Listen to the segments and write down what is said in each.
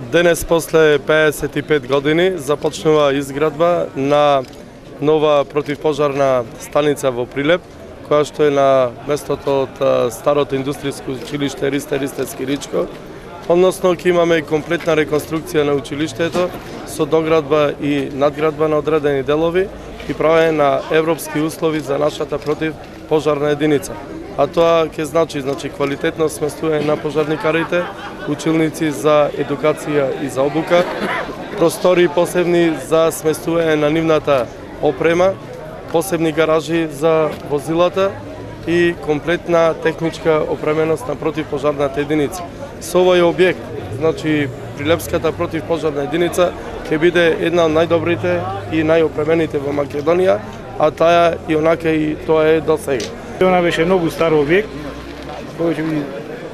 Денес, после 55 години, започнува изградба на нова противпожарна станица во Прилеп, која што е на местото од старото индустријско училиште Ристе Скиричко. Односно, ќе имаме комплетна реконструкција на училиштето со доградба и надградба на одредени делови и правење на европски услови за нашата противпожарна единица. А тоа ќе значи квалитетно сместување на пожарникарите, училници за едукација и за обука, простори посебни за сместување на нивната опрема, посебни гаражи за возилата и комплетна техничка опременост на противпожарната единица. Со овој објект, Прилепската противпожарна единица ќе биде една од најдобрите и најопремените во Македонија, а таа и онака и тоа е до сега. Она беше многу стар објект,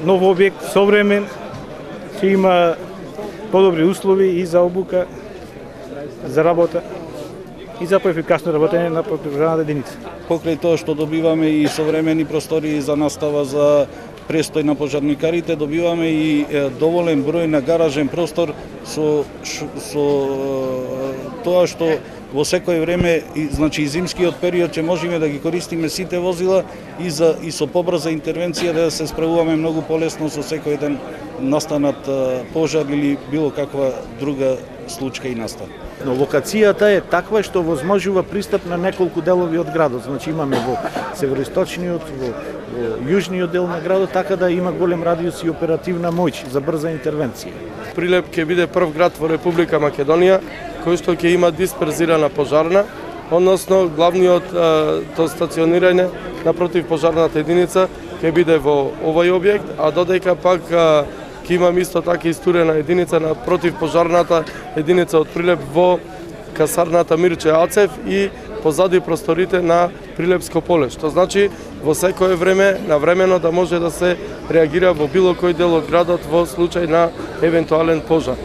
нов објект, современ, ќе има подобри услови и за обука, за работа и за поефикасно работење на противпожарната единица. Покрај тоа што добиваме и современи простори за настава за престој на пожарникарите, добиваме и доволен број на гаражен простор со тоа што во секое време, и зимскиот период ќе можеме да ги користиме сите возила и со побрза интервенција да се справуваме многу полесно со секој ден настанат пожар или било каква друга случка и настан. Но локацијата е таква што возможува пристап на неколку делови од градот. Имаме во североисточниот, во јужниот дел на градот, така да има голем радиус и оперативна моќ за брза интервенција. Прилеп ќе биде прв град во Република Македонија кој што ќе има дисперзирана пожарна, односно главниот стационирање на противпожарната единица ќе биде во овој објект, а додека пак ќе имам исто така истурена единица на противпожарната единица од Прилеп во касарната Мирче Ацев и позади просторите на Прилепско поле, што значи во секое време навремено да може да се реагира во било кој дел од градот во случај на евентуален пожар.